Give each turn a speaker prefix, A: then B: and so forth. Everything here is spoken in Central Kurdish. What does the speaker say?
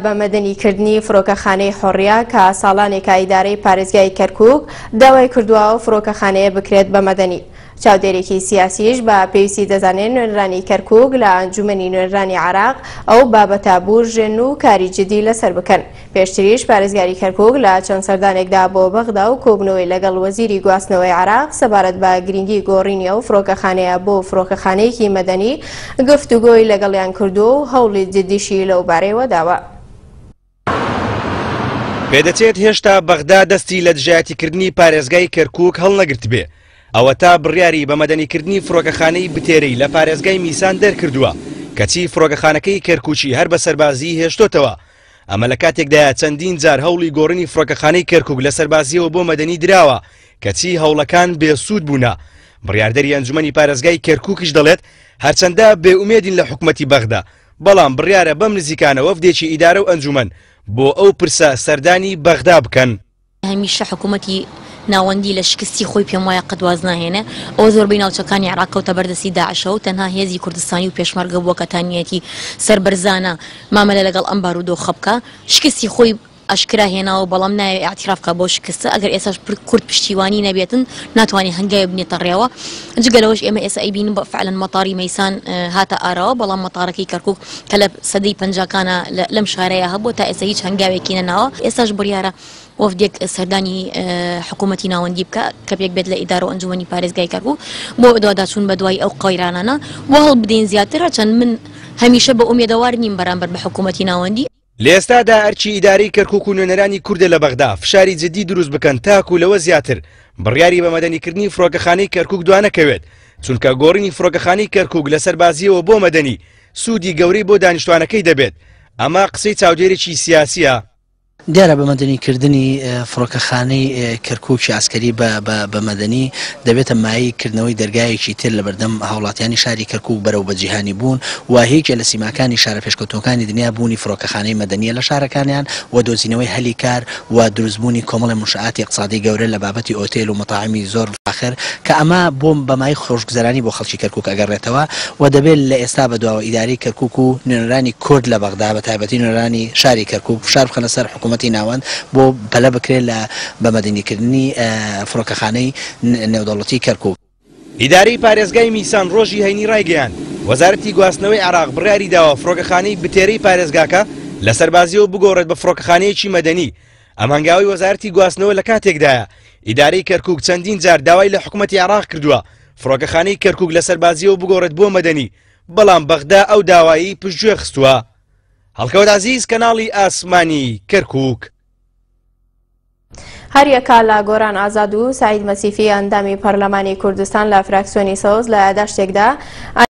A: بە مەدەنیکردنی فڕۆکەخانەی حوڕیە کە ساڵانێکە ئیدارەی پارێزگای کەرکوک داوای کردووە ئەو فڕۆکەخانەیە بکرێت بە مەدەنی. چاودێرێکی سیاسیش بە پێویستی دەزانێت نوێنرانی کەرکوک لە ئەنجومەنی نوێنرانی عێراق ئەو بابەتە بورژێن و کاری جدی لەسەر بکەن. پێشتریش پارێزگاری کەرکوک لە چەند سەردانێکدا بۆ بەغدا و کۆبوونەوەی لەگەڵ وەزیری گواستنەوەی عێراق سەبارەت بە گرنگی گۆڕینی ئەو فڕۆکەخانەیە بۆ فڕۆکەخانەیەکی مەدەنی گفتوگۆی لەگەڵیان کردووە و هەوڵی جدیشی لەو بارەیەوە داوە.
B: پێدەچێت هێشتا بەغدا دەستی لە دژایەتیکردنی پارێزگای کەرکوک هەڵنەگرتبێ، ئەوەتا بڕیاری بە مەدەنیکردنی فڕۆکەخانەی بتێرەی لە پارێزگای میسان دەرکردووە، کەچی فڕۆکەخانەکەی کەرکوکی هەر بە سەربازیی هێشتۆتەوە. ئەمە لە کاتێکدایە چەندین جار هەوڵی گۆڕینی فڕۆکەخانەی کەرکوک لە سەربازییەوە بۆ مەدەنی دراوە، کەچی هەوڵەکان بێ سوود بوونە. بڕیاردەری ئەنجومەنی پارێزگای کەرکوکیش دەڵێت، هەرچەندە بێ ئومێدین لە حکومەتی بەغدا، بەڵام بڕیارە بەم نزیکانە وەفدێکی ئیدارە و ئەنجومەن بۆ ئەو پرسە سەردانی بەغدا بکەن.
C: هەمیشە حکوومەتی ناوەندی لە شکستی خۆی پێم وایە قەت واز ناهێنێ، ئەوە زۆربەی ناوچەکانی عێراق کەوتە بەر دەستی داعشەوە و تەنها هێزی کوردستانی و پێشمەرگە بووە کە تانیەتی سەربەرزانە مامەلە لەگەڵ ئەم بارودۆخە بکا، شکستی خۆی ئاشکرا هێناوە بەڵام نایەوێ ئیعتیراف بکا بەو شکستە، ئەگەر ئێستاش کورد پشتیوانی نەبێتن ناتوانێ هەنگاوێ بنێتە ڕێوە، جگە لەوەش ئێمە ئێستا ئەیبینین بە فعلەن مەتاری مەیسان هاتە ئاراوە بەڵام مەتارەکەی کەرکوک کە لە سەدەی پەنجاکانە لەم شارەیا هەبووە تا ئێستا هیچ هەنگاوێکی نەناوە، ئێستاش بڕیارە وەفدێک سەردانی حکوومەتی ناوەندی بکا کە پێک بێت لە ئیدارە و ئەنجوومەنی پارێزگای کەرکوک بۆ بەدواداچوون بە دوای ئەو قەیرانانە و هەوڵ بدەین زیاتر هەرچەند من هەمیشە بە ئومێدەوار نیم بەرامبەر بە حکوومەتی ناوەندی.
B: لە ئێستادا ئەرکی ئیدارەی کەرکوک و نوێنەرانی کوردە لە بەغدا فشاری جدی دروست بکەن تاکو لەوە زیاتر بڕیاری بە مەدەنیکردنی فڕۆکەخانەی کەرکوک دوانەکەوێت، چونکە گۆڕینی فڕۆکەخانەی کەرکوک لە سەربازییەوە بۆ مەدەنی سوودی گەورەی بۆ دانیشتوانەکەی دەبێت، ئەمە قسەی چاودێرێکی سیاسییە.
D: دیارە بە مەدەنی کردنی فڕۆکەخانەی کەرکوکی عەسکەری بە مەدەنی دەبێتە مایەی کردنەوەی دەرگایەکی تر لەبەردەم هاوڵاتیانی شاری کەرکوک بەرەو بە جیهانی بوون و یەکێ لە سیماکانی شارە پێشکەوتووەکانی دنیا بوونی فڕۆکەخانەی مەدەنیە لە شارەکانیان و دۆزینەوەی هەلی کار و دروستبوونی کۆمەڵێ منشئاتی ئیقتسادی گەورە لە بابەتی ئۆتێل و مەتاعمی زۆر فاخر کە ئەمە بۆ بە مایەی خۆشگوزەرانی بۆ خەڵکی کەرکوک ئەگەڕێتەوە و دەبێت لە ئێستا بەدواوە ئیدارەی کەرکوک و نوێنەرانی کورد لە بەغدا بە تایبەتی نوێنەرانی شاری کەرکوک فشار بخەنە سەر حکوومەتی ناوەند بۆ پەلە بکرێت لە بە مەدەنیکردنی فڕۆکەخانەی نێودەوڵەتی کەرکوک.
B: ئیدارەی پارێزگای میسان ڕۆژی هەینی ڕایگەیاند، وەزارەتی گواستنەوەی عێراق بڕیاری داوە فڕۆکەخانەی بتێرەی پارێزگاکە لە سەربازییەوە بگۆڕێت بە فڕۆکەخانەیەکی مەدەنی. ئەم هەنگاوەی وەزارەتی گواستنەوە لە کاتێکدایە، ئیدارەی کەرکوک چەندین جار داوای لە حکومەتی عێراق کردووە فڕۆکەخانەی کەرکوک لە سەربازییەوە بگۆڕێت بۆ مەدەنی، بەڵام بەغدا ئەو داوایەی پشتگوێ خستووە. هەڵکەوت عەزیز، کەناڵی ئاسمانی کەرکوک.
A: هەریەکە لە گۆران ئازاد و سەعید مەسیفی ئەندامی پەرلەمانی کوردستان لە فراکسیۆنی سەوز لە یاداشتێکدا.